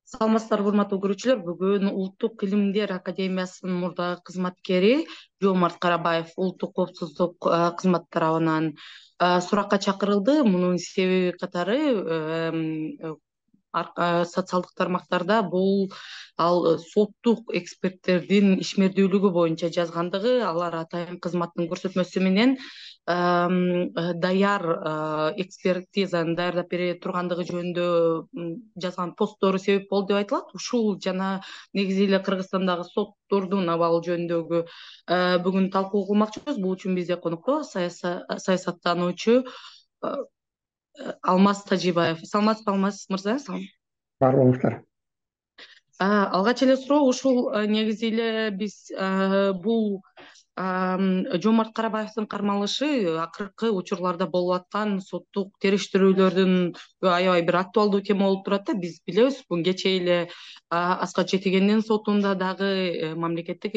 Саламатсыздарбы, урматтуу көрүүчүлөр. Бүгүн Улуттук илимдер академиясынын мурдагы кызматкери Жоомарт Карабаев улуттук коопсуздук кызматы тарабынан суракка чакырылды. Мунун себеби катары социалдык тармактарда бул ал соттук эксперттердин ишмердүүлүгү боюнча жазгандыгы, алар атайын кызматтын көрсөтмөсү менен даяр экспертизаны даярдап бере тургандыгы жөнүндө жазган посттору себеп болду деп айтылат. Ушул жана негизи эле Кыргызстандагы соттордун абалы жөнүндөгү бүгүн талкуу кылмакчыбыз. Бул үчүн бизде конокто саясаттануучу Алмаз Тажибаев. Саламатсызбы, Алмаз мырза? Бар болуңуздар. Алгач эле суроо ушул негизи эле биз бул Жоомарт Карабаевдин кармалышы акыркы учурларда болуп аткан соттук териштирүүлөрдүн аябай бир актуалдуу тема болуп турат да. Биз билебиз, бул кечээ эле Аскат Жетигендин сотунда дагы мамлекеттик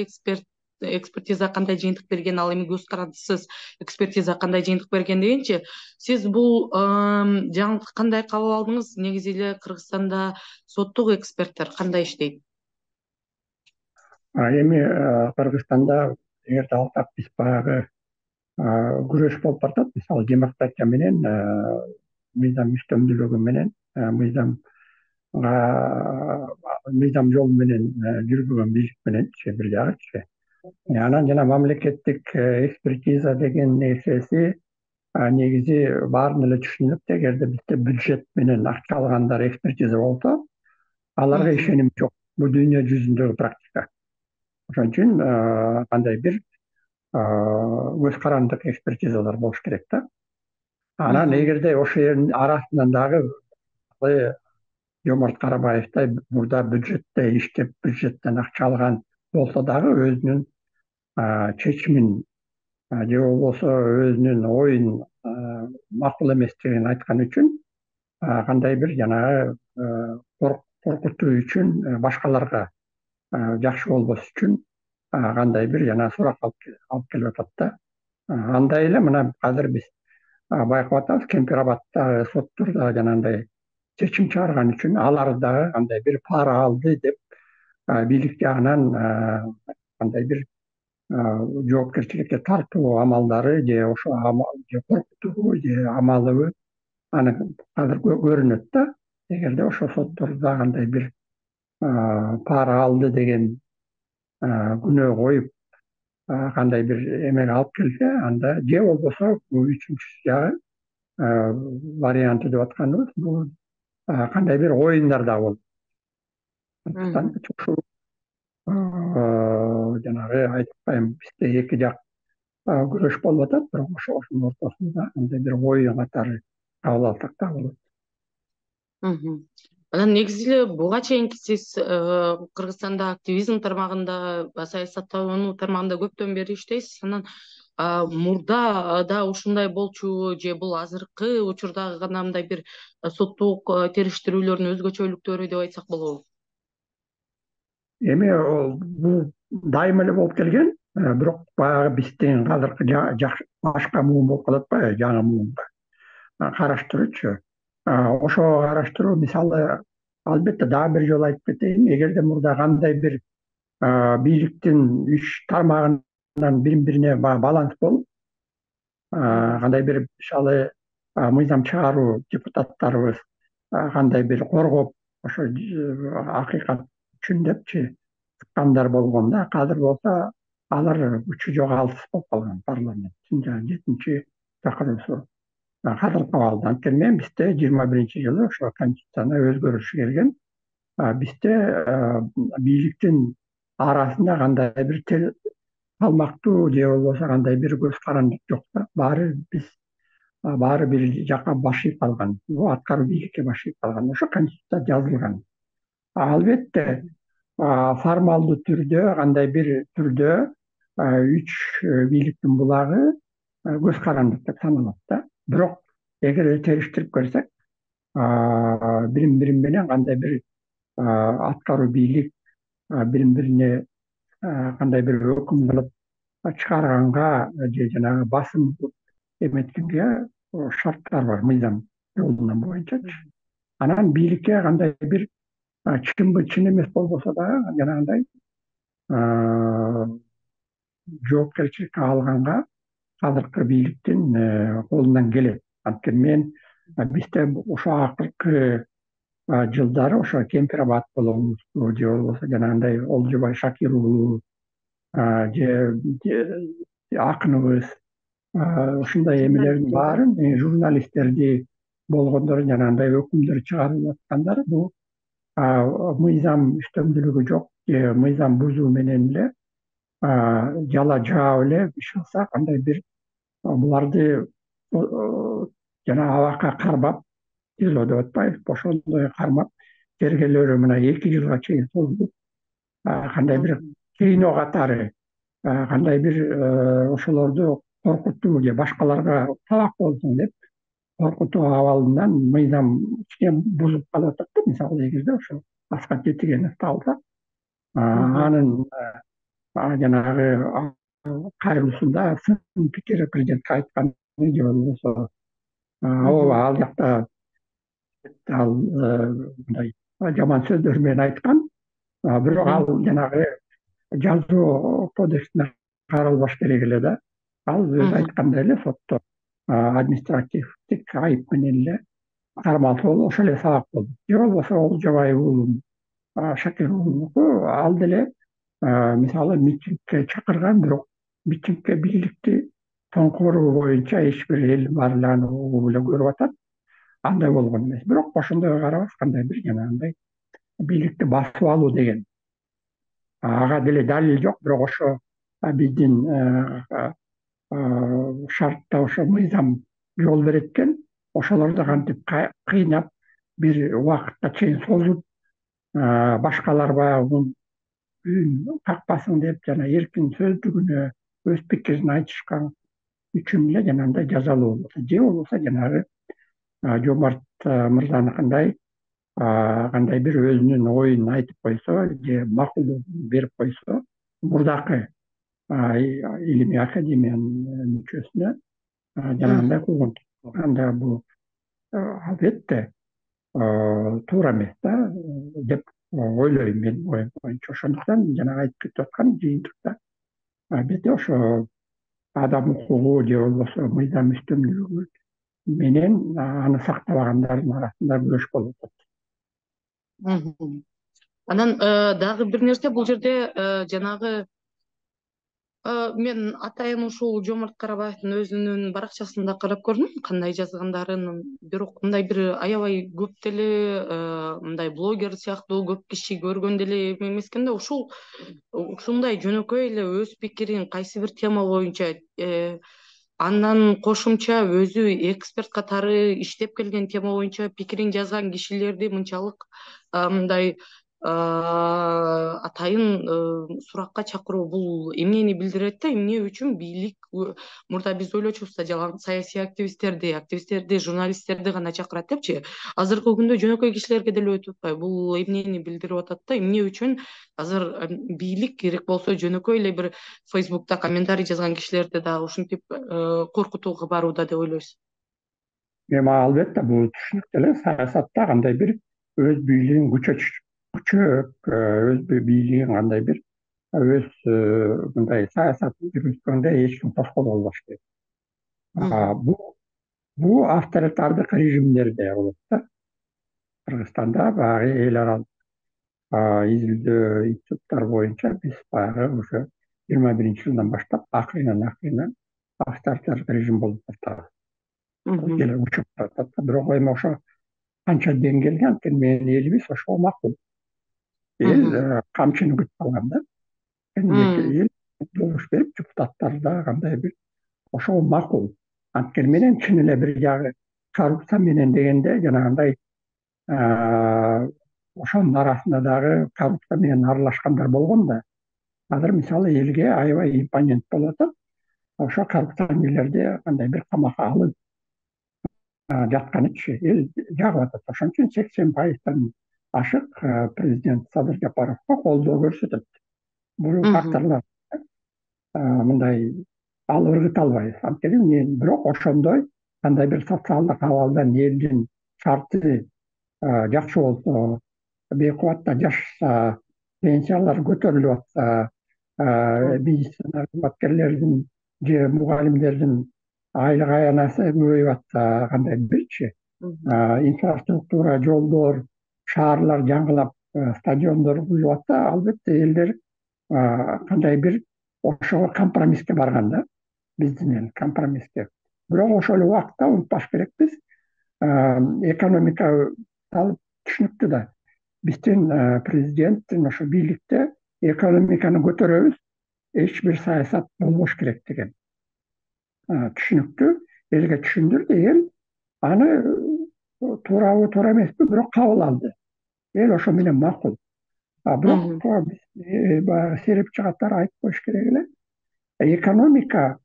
экспертиза кандай жыйынтык берген, ал эми көз карандысыз экспертиза кандай жыйынтык берген дегенчи, сиз бул жаңылыкты кандай кабыл алдыңыз? Негизи эле Кыргызстанда соттук эксперттер кандай иштейт? Эми Кыргызстанда эгерде алсак, биз баягы күрөш болуп баратат. Мисалы, демократия менен мыйзам үстөмдүүлүгү менен мыйзам жолу менен жүргүзгөн бийлик мененчи бир жагычы. Анан жана мамлекеттик экспертиза деген нерсеси негизи баарын эле түшүнөт. Эгерде бизде бюджет менен акча алгандар экспертиза болсо, аларга ишеним жок. Бул дүйнө жүзүндөгү практика. Ошон үчүн кандай бир көз карандык экспертизалар болуш керек да. Анан эгерде ошонун арасынан дагы Жоомарт Карабаевтай мурда бюджетте иштеп, бюджеттен акча алган болсо дагы өзүнүн чечимин же болбосо өзүнүн оюн макул эместигин айткан үчүн кандай бир жанагы коркутуу үчүн, башкаларга жакшы болбош үчүн кандай бир жана сурак алып келип атат да. Андай эле мына азыр биз байкап атабыз, Кемпир-Абаддагы соттордо жанагындай чечим чыгарган үчүн алар дагы кандай бир пара алды деп бийлик жагынан кандай бир жоопкерчиликке тартуу амалдары же ошо же коркутуу же амалыбы аны азыр көрүнөт да. Эгерде ошо соттордо кандай бир пара алды деген күнөө коюп кандай бир эмеге алып келсе, анда же болбосо үчүнчүсү жагы варианты деп атканыбыз бул кандай бир оюндар да болот. Ушул жанагы айтып атпаймынбы, бизде эки жак күрөш болуп атат, бирок ошонун ортосунда кандай бир оюн катары кабыл алсак да болот. Анан негизи эле буга чейинки сиз Кыргызстанда активизм тармагында, саясаттануу тармагында көптөн бери иштейсиз. Анан мурда да ушундай болчу же бул азыркы учурдагы гана мындай бир соттук териштирүүлөрдүн өзгөчөлүктөрү деп айтсак болобу? Эми бул дайыма эле болуп келген, бирок баягы биздин азыркы башка муун болуп калат атпайбы, жаңы муунга караштыруучу. Ошого караштыруу, мисалы, албетте дагы бир жолу айтып кетейин, эгерде мурда кандай бир бийликтин үч тармагынан бири-бирине баланс болуп, кандай бир мисалы мыйзам чыгаруу депутаттарыбыз кандай бир коргоп, ошо акыйкат үчүн депчи чыккандар болгондо, азыр болсо алар күчү жоголтуп болуп калган парламенттин жана 7-чи чакыруусу кадыр кабыл алды. Анткени менен бизде 21-жылы ошо конституцияна өзгөрүш келген. Бизде бийликтин арасында кандай бир салмактуу же болбосо кандай бир көз карандык жок да. Баары бир жакка баш ийип калган. Бул аткаруу бийликке баш ийип калган. Ошо конституцияда жазылган. Албетте формалдуу түрдө, кандай бир түрдө үч бийликтин булагы көз карандык деп саналат да. Бирок эгер териштирип көрсөк, бири менен кандай бир аткаруу бийлик бири-бирине кандай бир өкүм кылып чыгарганга же жанагы басым эметкенге шарттар бар, мыйзам жолунан боюнчачы. Анан бийликке кандай бир чын эмес болбосо дагы жанагындай жоопкерчиликке алганга азыркы бийликтин колунан келет. Анткени мен бизде ошо акыркы жылдары ошо Кемпир Абад болобузбу же болбосо жанагындай Олжобай Шакир уулу же акыныбыз ушундай эмелердин баарын журналисттерди болгондор жанагындай өкүмдөр чыгарып аткандар бул мыйзам үстөмдүүлүгү жок же мыйзам бузуу менен эле жала жаап эле иш кылса кандай бир буларды жана абакка кармап тизилөө деп атпайбызбы ошондой кармап тергөөлөрү мына 2 жылга чейин созулуп кандай бир кыйноо катары кандай бир ошолорду коркутуу же башкаларга сабак болсун деп коркутуу абалынан мыйзам кичине бузуп калып атат да. Мисалы эгерде ошо Аскат Жетигеновду алсак анын жанагы кайрылуусунда сын пикир президентке айтканы же болбосо ооба ал жакта ал мындай жаман сөздөр менен айткан, бирок ал жанагы жазуу кодексине каралбаш керек эле да. Ал өзү айткандай эле сотто административдик айып менен эле кармалса болуп ошол эле сабак болду. Же болбосо Олжобай уулу Шакир уулунуку ал деле мисалы митингге чакырган, бирок митингге бийликти тоңкооруу боюнча эч бир эл бар эле аны угуп эле көрүп атат. Андай болгон эмес. Бирок ошондойго карабас кандай бир жанагындай бийликти басып алуу деген ага деле далил жок, бирок ошо биздин шартта ошо мыйзам жол берет экен. Ошолорду кантип кыйнап бир убакытка чейин созуп башкалар баягы үн какпасын деп жана эркин сөздүгүнө өз пикирин айтышкан үчүн эле жанагындай жазалуу болот. Же болбосо жанагы Жомарт мырзаныкындай кандай бир өзүнүн оюн айтып койсо же макулдугун берип койсо мурдакы илимий академиянын мүчөсүнө жанагындай кылган. Анда бул албетте туура эмес да деп ойлойм мен оюм боюнча. Ошондуктан жанагы айтып кетип аткан жыйынтыкта албетте ошо адам укугу же болбосо мыйзам үстөмдүүлүгү менен аны сактабагандардын арасында күрөш болуп атат. Анан дагы бир нерсе бул жерде жанагы мен атайын ушул Жомарт Карабаевдин өзүнүн баракчасында карап көрдүм кандай жазгандарын, бирок мындай бир аябай көп деле мындай блогер сыяктуу көп киши көргөн деле эме эмес экен да. Ушундай жөнөкөй эле өз пикирин кайсы бир тема боюнча андан кошумча өзү эксперт катары иштеп келген тема боюнча пикирин жазган кишилерди мынчалык мындай атайын суракка чакыруу бул эмнени билдирет да, эмне үчүн бийлик мурда биз ойлочубуз да жалаң саясий активисттерди, журналисттерди гана чакырат депчи. Азыркы күндө жөнөкөй кишилерге деле өтүп атпайбы? Бул эмнени билдирип атат да, эмне үчүн азыр бийлик керек болсо жөнөкөй эле бир Фейсбукта комментарий жазган кишилерди дагы ушинтип коркутууга барууда деп ойлойсуз? Эми албетте бул түшүнүктүү эле. Саясатта кандай бир өз бийлигин өз бийлигин кандай бир өз мындай саясатын жүргүзгөндө эч ким тоскоол болбош керек. Бул авторитардык режимдерде болот да. Кыргызстанда баягы эл аралык изилдөө институттар боюнча биз баягы ошо 21-жылдан баштап акырынан авторитардык режим болуп баштаган. Деле учуп атат. Бирок эми ошо канча деңгээлге, анткени менин элибиз ошого макул. Эл камчыны күтүп алган да. Эл добуш берип, депутаттар да кандай бир ошого макул. Анткени менен чын эле бир жагы коррупция менен дегенде жанагындай ошонун арасында дагы коррупция менен аралашкандар болгон да. Азыр мисалы элге аябай импонент болуп атат. Ошо коррупционерлерди кандай бир камакка алып жатканычы эл жагып атат. Ошон үчүн 80% ашык президент Садыр Жапаровго колдоо көрсөтөт. Бул факторлор мындай ал ыргыта албайбыз. Анткени бирок ошондой кандай бир социалдык абалдан элдин шарты жакшы болсо, бейкубатта жашаса, пенсиялар көтөрүлүп атса, медицина кызматкерлердин же мугалимдердин айлык аянасы көбөйүп атса, кандай бирчи инфраструктура, жолдор, шаарлар жаңылап, стадиондор курулуп атса, албетте элдер кандай бир ошого компромисске барган да, биздин менен компромисске. Бирок ошол эле убакытта унутпаш керекпиз, экономика салып түшүнүктүү да. Биздин президенттин ошо бийликте экономиканы көтөрөбүз, эч бир саясат болбош керек деген түшүнүктүү. Элге түшүндүрдү, эл аны туурабы туура эмеспи, бирок кабыл алды. Эл ошо менен макул. Бирок биз баягы серепчи катары айтып коюш керек эле, экономика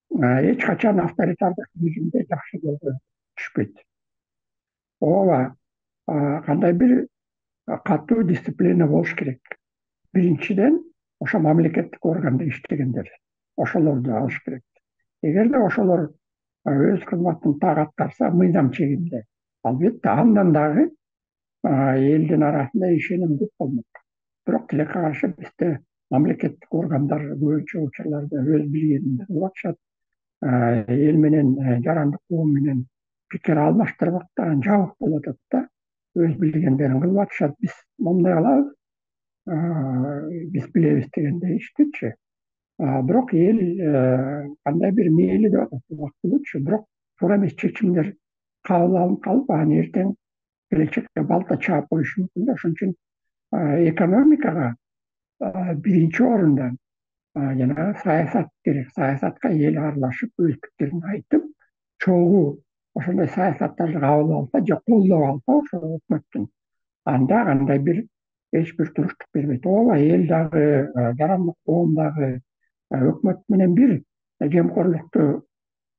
эч качан авторитардык режимде жакшы жолго түшпөйт. Ооба, кандай бир катуу дисциплина болуш керек. Биринчиден, ошо мамлекеттик органда иштегендер, ошолорду алыш керек. Эгерде ошолор өз кызматын так аткарса, мыйзам чегинде, албетте андан дагы элдин арасында ишенимдүү болмок. Бирок тилекке каршы бизде мамлекеттик органдар көбүнчө учурларда өз билгениндей кылып атышат. Эл менен, жарандык коом менен пикир алмаштырбактаган жабык болуп атат да, өз билгендерин кылып атышат. Биз момундай кылабыз, биз билебиз дегендей иштичи. Бирок эл кандай бир мээли деп атат убактылуучу, бирок туура эмес чечимдер кабыл алынып калып, анан эртең келечекте балта чаап коюшу мүмкүн да. Ошон үчүн экономикага биринчи орунда жанагы саясат керек. Саясатка эл аралашып, өз пикирин айтып, чогуу ошондой саясаттарды кабыл алса же колдоп алса ошол өкмөттүн, анда кандай бир эч бир туруштук бербейт. Ооба, эл дагы, жарандык коом дагы өкмөт менен бир жемкорлукту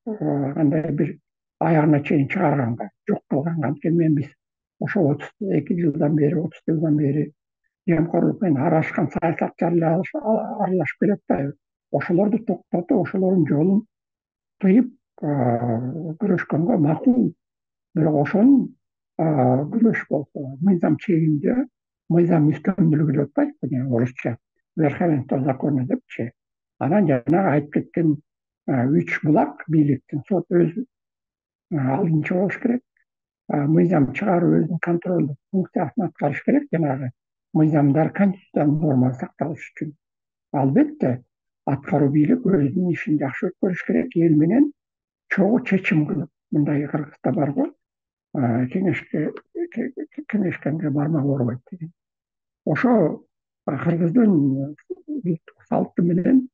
кандай бир аягына чейин чыгарганга, жок кылганга. Анткени биз ошо 32 жылдан бери, 30 жылдан бери жемкорлук менен аралашкан саясатчылар аралашып келип атпайбы? Ошолорду токтотуп, ошолордун жолун тыйып күрөшкөнгө макул. Бирок ошонун күрөш болсо, мыйзам чегинде, мыйзам үстөмдүүлүгү деп атпайбызбы, орусча верховенство закона депчи. Анан жанагы айтып кеткен 3 булак бийликтин, сот өзү алдынча болуш керек, мыйзам чыгаруу өзүнүн контролдук функциясын аткарыш керек, жанагы мыйзамдар, конституциянын нормасы сакталыш үчүн. Албетте, аткаруу бийлик өзүнүн ишин жакшы өткөрүш керек, эл менен чогуу чечим кылып. Мындай Кыргызда бар го, кеңешкенге бармак оорубайт деген. Ошо кыргыздын салты менен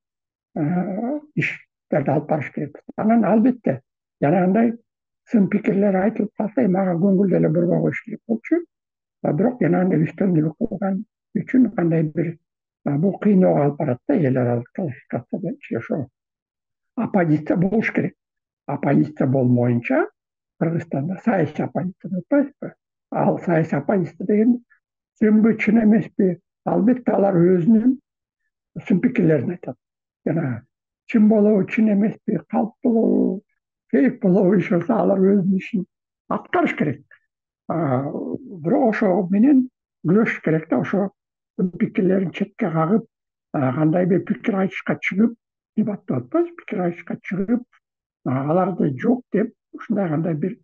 иштерди алып барыш керек. Анан албетте жанагындай сын пикирлер айтылып калса, мага көңүл деле бурбай коюш керек болчу. Бирок жанагындай үстөмдүүлүк кылган үчүн кандай бир бул кыйноого алып барат да, эл аралык классификациядачы. Ошо оппозиция болуш керек. Оппозиция болмоюнча Кыргызстанда саясий оппозиция деп атпайбызбы? Ал саясий оппозиция деген чынбы, чын эмеспи? Албетте алар өзүнүн сын пикирлерин айтат. Жана чын болобу, чын эмеспи, калп болобу, фейк болобу, иш болсо алар өзүнүн ишин аткарыш керек. Бирок ошо менен күрөшүш керек да, ошо пикирлерин четке кагып, кандай бир пикир айтышка чыгып, дебат деп атпайбызбы, пикир айтышка чыгып, аларды жок деп, ушундай кандай бир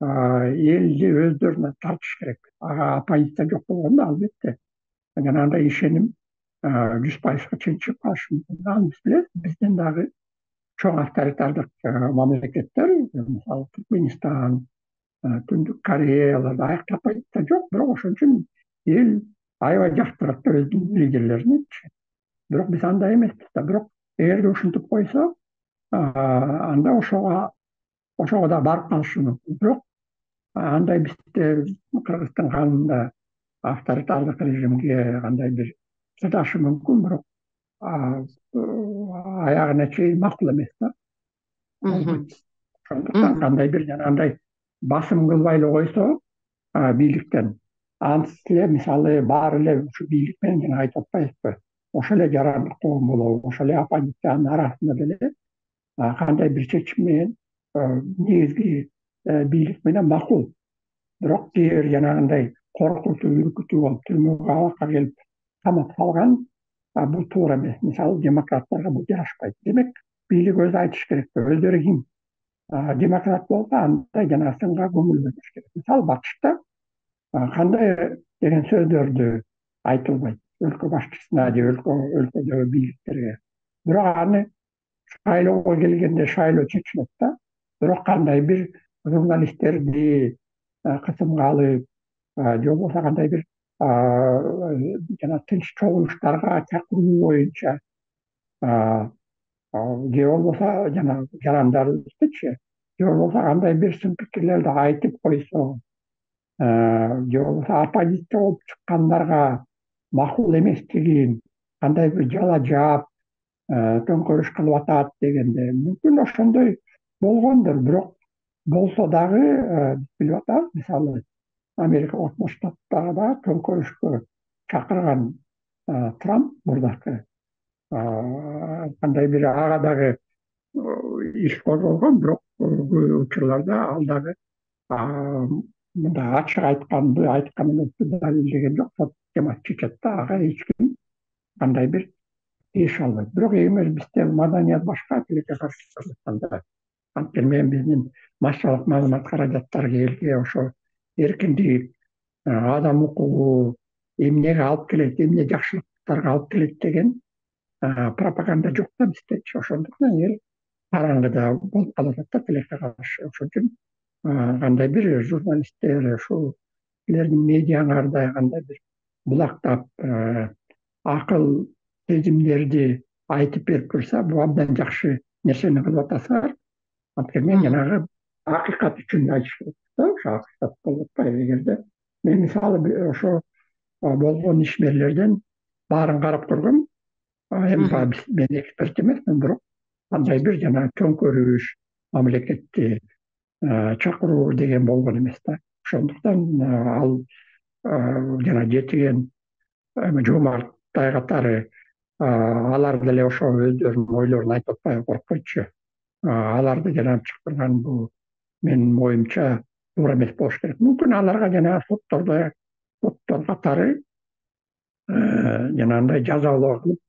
элди өздөрүнө тартыш керек. Оппозиция жок болгондо албетте жанагындай ишеним 100%га чейин чыгып калышы мүмкүн. Аны биз билебиз. Бизден дагы чоң авторитардык мамлекеттер, мисалы Түркменистан, Түндүк Кореяларда аякта оппозиция жок, бирок ошон үчүн эл аябай жактырат да өзүнүн лидерлериничи. Бирок биз андай эмеспиз да. Бирок эгерде ушинтип койсо, анда ошого да барып калышы мүмкүн. Бирок андай бизде Кыргыздын канунда авторитардык режимге кандай бир чыдашы мүмкүн, бирок аягына чейин макул эмес да. Ошондуктан кандай бир жанагындай басым кылбай эле койсо бийликтен, антип эле мисалы баары эле ушу бийлик менен жана айтып атпайбызбы, ошол эле жарандык коом болобу, ошол эле оппозициянын арасында деле кандай бир чечим менен негизги бийлик менен макул. Бирок кээ бир жанагындай коркутуу, үркүтүү болуп түрмөгө алакка келип камап салган, бул туура эмес. Мисалы демократтарга бул жарашпайт. Демек бийлик өзү айтыш керек, өздөрү ким. Демократ болсо андай жана сынга көңүл бөлүш керек. Мисалы БАКШта кандай деген сөздөрдү айтылбайт өлкө башчысына же өлкөдөгү бийликтерге. Бирок аны шайлоого келгенде шайлоо чечилет да. Бирок кандай бир журналисттерди кысымга алып, же болбосо кандай бир жана тынч чогулуштарга чакыруу боюнча, же болбосо жана жарандарыбыздычы, же болбосо кандай бир сын пикирлерди айтып койсо, же болбосо оппозиция болуп чыккандарга макул эместигин кандай бир жала жаап, төңкөрүш кылып атат дегенде мүмкүн ошондой болгондур. Бирок болсо дагы биз билип атабыз, мисалы Америка Кошмо Штаттарда төңкөрүшкө чакырган Трамп мурдакы кандай бир ага дагы иш козголгон, бирок көп учурларда ал дагы мындай ачык айткан эмес далилдеген жок. Сот системасы чечет да, ага эч ким кандай бир тийише албайт. Бирок эгер бизде маданият башка, тилекке каршы чыкканда, анткени биздин массалык маалымат каражаттары элге ошо эркиндик, адам укугу эмнеге алып келет, эмне жакшылыктарга алып келет деген пропаганда жок да биздечи. Ошондуктан эл караңгыда болуп калып атат да тилекке каршы. Ошон үчүн кандай бир журналисттер ушул силердин медиаңарда кандай бир булактап акыл сезимдерди айтып берип турса, бул абдан жакшы нерсени кылып атасыңар. Анткени мен жанагы акыйкат үчүн айтыш керек да, ошо акыйкат болуп атпайбы. Эгерде мен мисалы ошо болгон ишмерлерден баарын карап көргөм. Эми баягы мен эксперт эмесмин, бирок кандай бир жана төңкөрүш, мамлекетти чакыруу деген болгон эмес да. Ошондуктан ал жана жетиген Жомарт катары алар деле ошо өздөрүнүн ойлорун айтып атпайбы, коркпойчу. Аларды жанагы чакырган бул менин оюмча туура эмес болуш керек. Мүмкүн аларга жанагы соттор катары жанагындай жазалоо кылып,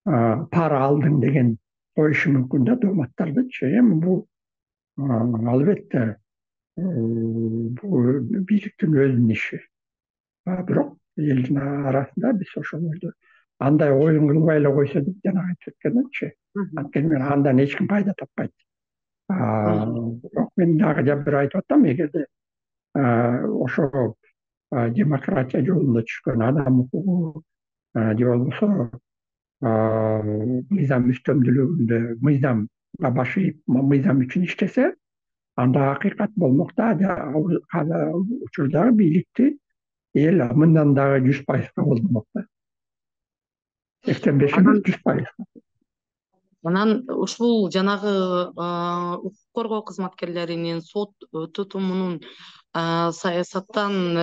пара алдың деген коюшу мүмкүн да дооматтардычы. Эми бул албетте бул бийликтин өзүнүн иши. Бирок элдин арасында биз ошолорду андай оюн кылбай эле койсо деп жанагы айтып өткөндөчү. Анткени андан эч ким пайда таппайт. Бирок мен дагы бир айтып атам, эгерде ошо демократия жолунда түшкөн адам укугу же болбосо мыйзам үстөмдүүлүгүндө мыйзамга баш ийип мыйзам үчүн иштесе, анда акыйкат болмок да. Ал учурдагы бийликти эл мындан дагы 100% колдомок да. 85 эмес, 100%. Анан ушул жанагы укук коргоо кызматкерлеринин сот тутумунун саясаттан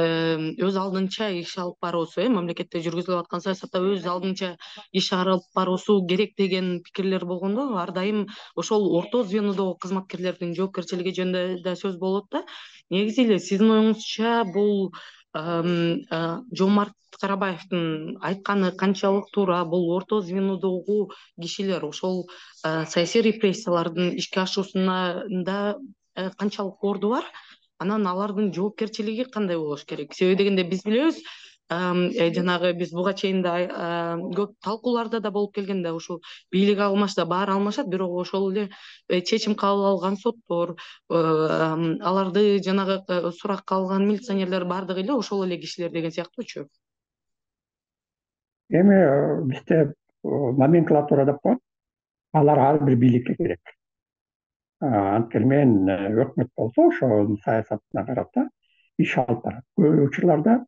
өз алдынча иш алып баруусу, мамлекетте жүргүзүлүп аткан саясатта өз алдынча иш алып баруусу керек деген пикирлер болгондо, ар дайым ошол орто звенодогу кызматкерлердин жоопкерчилиги жөнүндө да сөз болот да. Негизи эле сиздин оюңузча бул Жомарт Карабаевдин айтканы канчалык туура? Бул орто звенодогу кишилер ошол саясий репрессиялардын ишке ашуусунда канчалык орду бар? Анан алардын жоопкерчилиги кандай болуш керек? Себеби дегенде биз билебиз, жанагы биз буга чейин да көп талкууларда да болуп келгенде ушул бийлик алмашса баары алмашат, бирок ошол эле чечим кабыл алган соттор, аларды жанагы суракка алган милиционерлер баардыгы эле ошол эле кишилер деген сыяктуучу. Эми бизде номенклатура деп коет. Алар ар бир бийликке керек. Анткени мен өкмөт болсо ошонун саясатына карата иш алып барат. Көп учурларда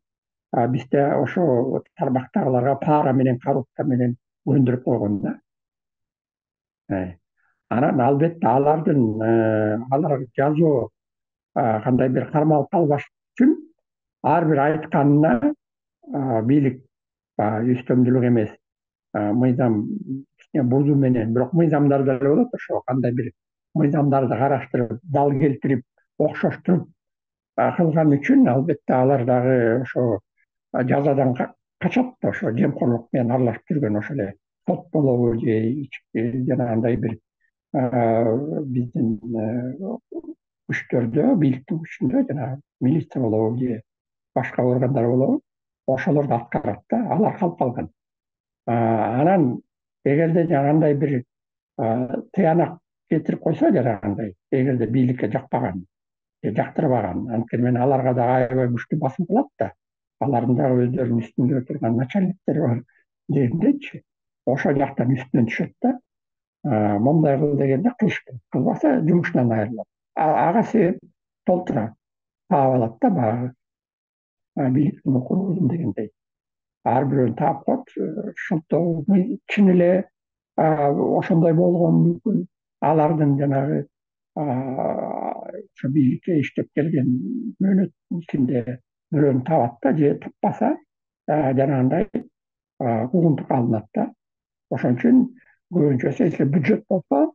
бизде ошо тармактагыларга пара менен, коррупция менен көндүрүп койгон да. Анан албетте алар жазоо кандай бир кармалып калбаш үчүн ар бир айтканына бийлик үстөмдүүлүк эмес, мыйзам бузуу менен, бирок мыйзамдар деле болот, ошо кандай бир мыйзамдарды караштырып, дал келтирип, окшоштуруп кылган үчүн албетте алар дагы ошо жазадан качат да, ошо жемкорлук менен аралашып жүргөн ошо эле сот болобу же жанагындай бир биздин күчтөрдө, бийликтин күчүндө жанагы милиция болобу же башка органдар болобу, ошолорду аткарат да, алар калып калган. Анан эгерде жанагындай бир тыянак кетирип койсо, жанагындай эгерде бийликке жакпаган, жактырбаган, анткени мен аларга дагы аябай күчтүү басым кылат да, алардын дагы өздөрүнүн үстүндө турган начальниктери бар дегендейчи, ошол жактан үстүнөн түшөт да, момундай кыл дегенде кылыш керек, кылбаса жумушунан айрылат. Ага себеп толтура таап алат да, баягы бийликтин укугун дегендей. Ар бирөөнү таап коет, ошондо чын эле ошондой болгону мүмкүн. Алардын жанагы ошо бийликке иштеп келген мөөнөт ичинде бирөөнү табат да, же таппаса жанагындай куугунтукка алынат да. Ошон үчүн көбүнчөсү если бюджет болсо,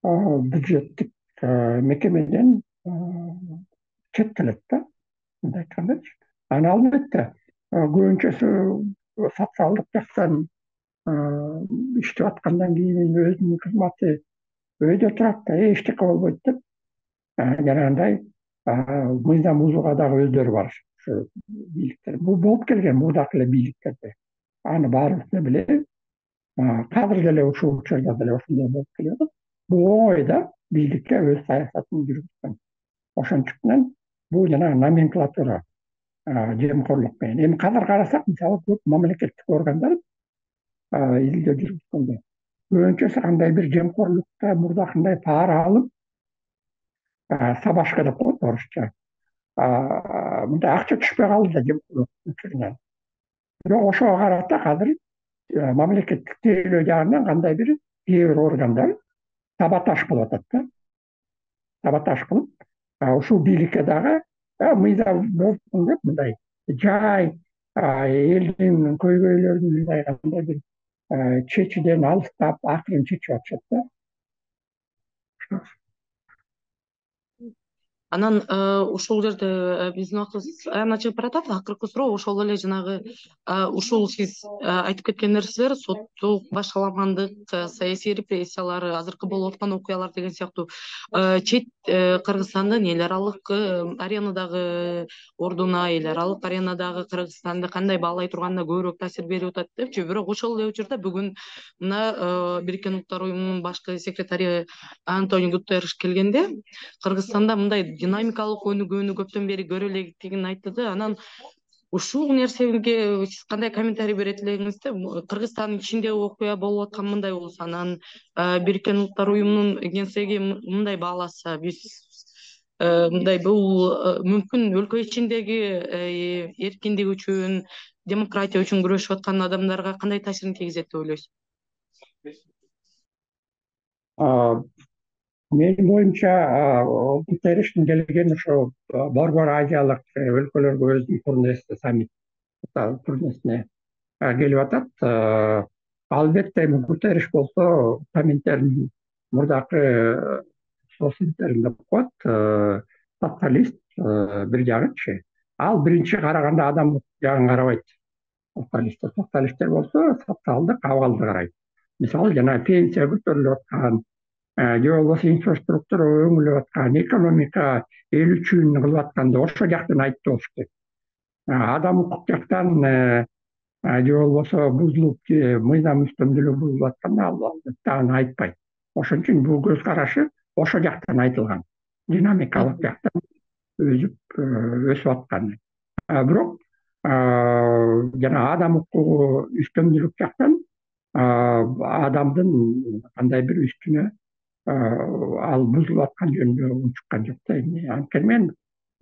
бюджеттик мекемеден четтелет да, мындай айткандачы. Анан албетте көбүнчөсү социалдык жактан иштеп аткандан кийин өзүнүн кызматы өйдө турат да, эчтеке болбойт деп жанагындай мыйзам бузууга дагы өздөрү бар ошо бийликтер. Бул болуп келген мурдакы эле бийликтерде. Аны баарыбыз да билебиз. Азыр деле ушул учурда деле ошондой болуп келет. Бул оңой да, бийликке өз саясатын жүргүзгөн. Ошондуктан бул жанагы номенклатура жемкорлук менен. Эми казыр карасак, мисалы көп мамлекеттик органдар илдөө жүргүзгөндө көбүнчөсү кандай бир жемкорлукта мурдакындай пара алып, сабашка деп коет орусча. Мындай акча түшпөй калды да жемкорлук учурунан. Бирок ошого карата азыр мамлекеттик тейлөө жагынан кандай бир кээ бир органдар саботаж кылып атат да. Саботаж кылып, ушул бийликке дагы мыйзам болсун деп мындай жай элдин көйгөйлөрүн мындай кандай бир чечүүдөн алыстап, акырын чечип атышат да. Анан ушул жерде биздин убактыбыз аябай чыгып баратат. Акыркы суроо ошол эле жанагы ушул сиз айтып кеткен нерселер, соттук башаламандык, саясий репрессиялар, азыркы болуп аткан окуялар деген сыяктуу чет Кыргызстандын эл аралык аренадагы ордуна, эл аралык аренадагы Кыргызстанды кандай баалай турганына көбүрөөк таасир берип атат депчи. Бирок ошол эле учурда бүгүн мына Бириккен Улуттар Уюмунун башкы секретары Антонио Гутерриш келгенде Кыргызстанда мындай динамикалык өнүгүүнү көптөн бери көрө электигин айтты да. Анан ушул нерсеге сиз кандай комментарий берет элеңиз? Кыргызстандын ичинде окуя болуп аткан мындай болсо, анан Бириккен Улуттар Уюмунун Генсеги мындай бааласа, биз мындай бул мүмкүн өлкө ичиндеги эркиндик үчүн, демократия үчүн күрөшүп аткан адамдарга кандай таасирин тийгизет деп ойлойсуз? Менин оюмча Гутерриштин келгени ошо Борбор Азиялык өлкөлөргө өзүнүн турнеси, саммит турнесине келип атат. Албетте эми Гутерриш болсо саммиттердин мурдакы соцсеттерин деп коет, социалист бир жагычы. Ал биринчи караганда адам жагын карабайт. Социалисттер болсо социалдык абалды карайт. Мисалы жана пенсия көтөрүлүп аткан, же болбосо инфраструктура өңүлүп аткан, экономика эл үчүн кылып атканды ошол жактан айтып болуш керек. Адам укук жактан же болбосо бузулуп, мыйзам үстөмдүүлүгү бузулуп атканда албетте аны айтпайт. Ошон үчүн бул көз карашы ошол жактан айтылган. Динамикалык жактан өсүп аткан. Бирок жана адам укугу үстөмдүүлүк жактан адамдын кандай бир үстүнө ал бузулуп аткан жөнүндө унчуккан жок да. Анткени мен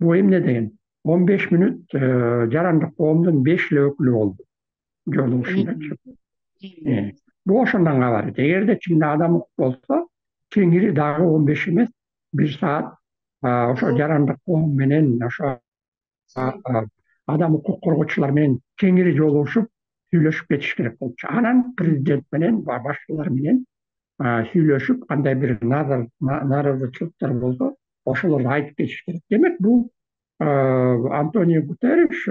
бул эмне деген 15 мүнөт жарандык коомдун 5 эле өкүлү болду жолугушундачы. Бул ошондон кабарыт. Эгерде чынында адам укук болсо, кеңири дагы 15 эмес, 1 саат ошо жарандык коом менен, ошо адам укук коргоочулар менен кеңири жолугушуп сүйлөшүп кетиш керек болчу. Анан президент менен, башчылар менен сүйлөшүп, кандай бир нааразычылыктар болсо, ошолорду айтып кетиш керек. Демек, бул Антонио Гутерриш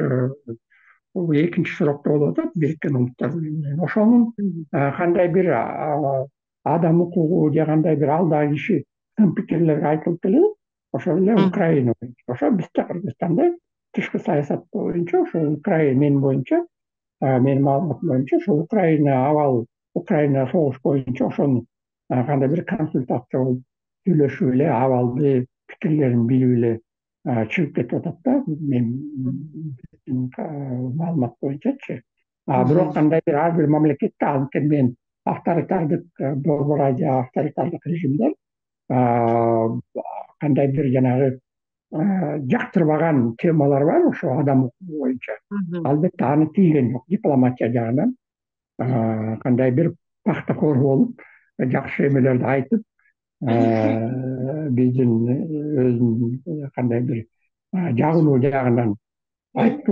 бул экинчи сурокто болуп атат Бириккен Улуттар Уюму менен. Ошонун кандай бир адам укугу же кандай бир алдагы киши тың пикирлер айтылып эле ошол эле Украина боюнча. Ошо бизде Кыргызстанда тышкы саясат боюнча ошо Украина менин боюнча менин маалыматым боюнча ошо Украина абал Украина согуш боюнча ошону кандай бир консультация болуп сүйлөшүп эле абалды пикирлерин билип эле чыгып кетип атат да биздин маалымат боюнчачы. Бирок кандай бир ар бир мамлекетте анткени мен авторитардык Борбор Азия авторитардык режимдер кандай бир жанагы жактырбаган темалар бар ошо адам укугу боюнча. Албетте аны тийген жок дипломатия жагынан кандай бир пахтакор болуп жакшы эмелерди айтып биздин өзүнүн кандай бир жагынуу жагынан айтып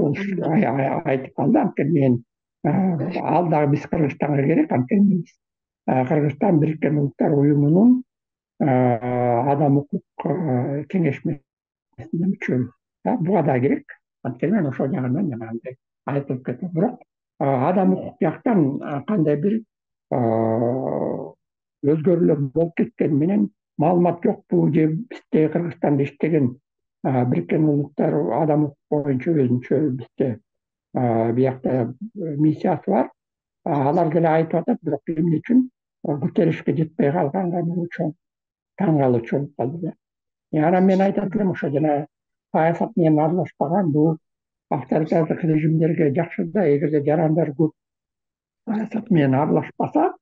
калды. Анткени мен ал дагы биз Кыргызстанга керек. Анткени биз Кыргызстан Бириккен Улуттар Уюмунун адам укук кеңешмесине мүчөбүз. Буга да керек. Анткени мен ошол жагынан жанагындай айтылып кетти. Бирок адам укук жактан кандай бир өзгөрүүлөр болуп кеткени менен маалымат жокпу же бизде Кыргызстанда иштеген Бириккен Улуттар адам укук боюнча өзүнчө бизде биякта миссиясы бар. Алар деле айтып атат, бирок эмне үчүн Гутерришке жетпей калганга бул чоң таң калуучу болуп калды. Анан мен айтат элем ошо жана саясат менен аралашпаган бул авторитардык режимдерге жакшы да, эгерде жарандар көп саясат менен аралашпаса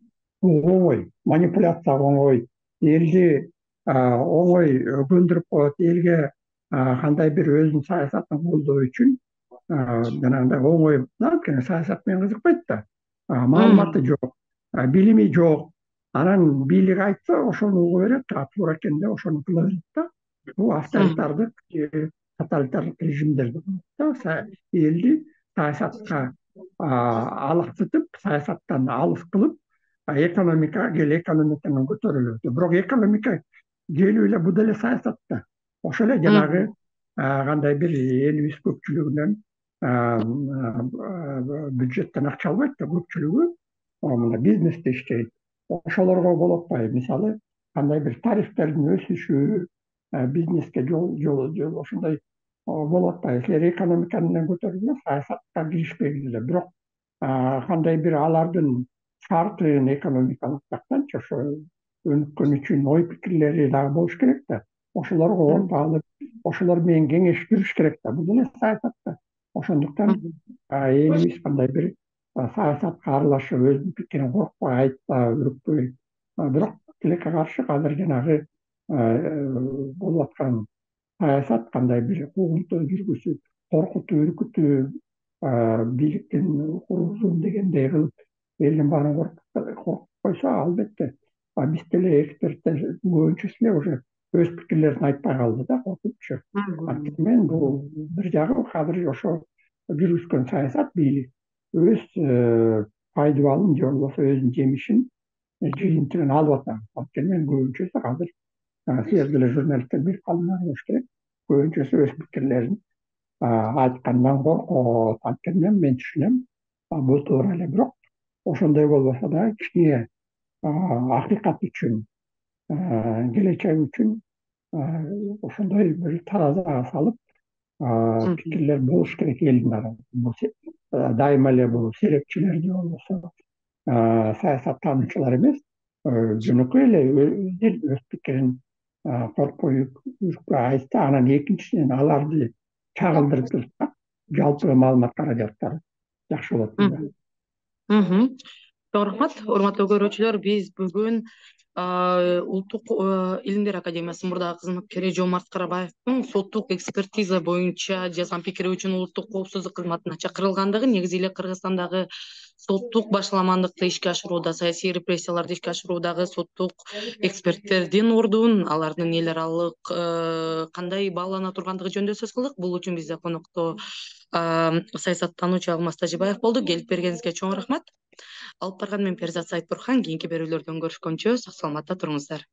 бул оңой, манипуляция оңой, элди оңой көндүрүп коет, элге кандай бир өзүнүн саясатын колдоо үчүн жанагындай оңой да, анткени саясат менен кызыкпайт да. Маалыматы жок, билими жок. Анан бийлик айтса ошону угу берет, туура экен деп ошону кыла берет да. Бул авторитардык тоталитардык режимдер да, элди саясатка алаксытып, саясаттан алыс кылып, экономикага кел, экономиканан көтөрүлөт. Бирок экономика келип эле бул деле саясат да. Ошол эле жанагы кандай бир элибиз көпчүлүгүнөн бюджеттен акча албайт да, көпчүлүгү мына бизнесте иштейт. Ошолорго болуп атпайбы? Мисалы, кандай бир тарифтердин өсүшү, бизнеске жол ошондой болуп атпайбы? Силер экономиканы көтөрүп саясатка киришпегиле эле. Бирок кандай бир алардын шартын экономикалык жактанчы ошо өнүккөн үчүн ой пикирлери дагы болуш керек да. Ошолорго орто алып, ошолор менен кеңешип керек да. Бул деле саясат да. Ошондуктан элибиз кандай бир саясатка аралашып, өзүнүн пикирин коркпой айтпай, үрүкпөй. Бирок тилекке каршы азыр жанагы болуп аткан саясат кандай бир куугунтуу жүргүзүп, коркутуп, үркүтүп, бийликтин курулуусун дегендей кылып, элдин баарын коркутуп койсо, албетте биз деле эксперттер көбүнчөсү эле уже өз пикирлерин айтпай калды да, коркупчу. Анткени мен бул бир жагы азыр ошо жүргүзгөн саясат бийлик өз пайдубалын же болбосо өзүнүн жемишин, жыйынтыгын алып атат. Анткени мен көбүнчөсү азыр силер деле журналисттер билип калыңар болуш керек. Көбүнчөсү өз пикирлерин айткандан коркот. Анткени мен түшүнөм, бул туура эле. Бирок ошондой болбосо да кичине акыйкат үчүн, келечек үчүн ошондой бир таразага салып пикирлер болуш керек элдин арасында. Дайыма эле бул серепчилер же болбосо саясаттануучулар эмес, жөнөкөй эле өз пикирин коркпой, үркпөй айтса, анан экинчисинен аларды чагылдырып турса, жалпы маалымат каражаттары жакшы болот. Чоң рахмат, урматтуу көрүүчүлөр. Биз бүгүн Улуттук илимдер академиясынын мурдагы кызматкери Жомарт Карабаевдин соттук экспертиза боюнча жазган пикири үчүн улуттук коопсуздук кызматына чакырылгандыгы, негизи эле Кыргызстандагы соттук башаламандыкты ишке ашырууда, саясий репрессияларды ишке ашыруудагы соттук эксперттердин ордун, алардын эл аралык кандай баалана тургандыгы жөнүндө сөз кылдык. Бул үчүн бизде конокто саясаттануучу Алмаз Тажибаев болду. Келип бергениңизге чоң рахмат. Алып барган мен Перизат Сайтбурхан. Кийинки берүүлөрдөн көрүшкөнчө сак саламатта туруңуздар.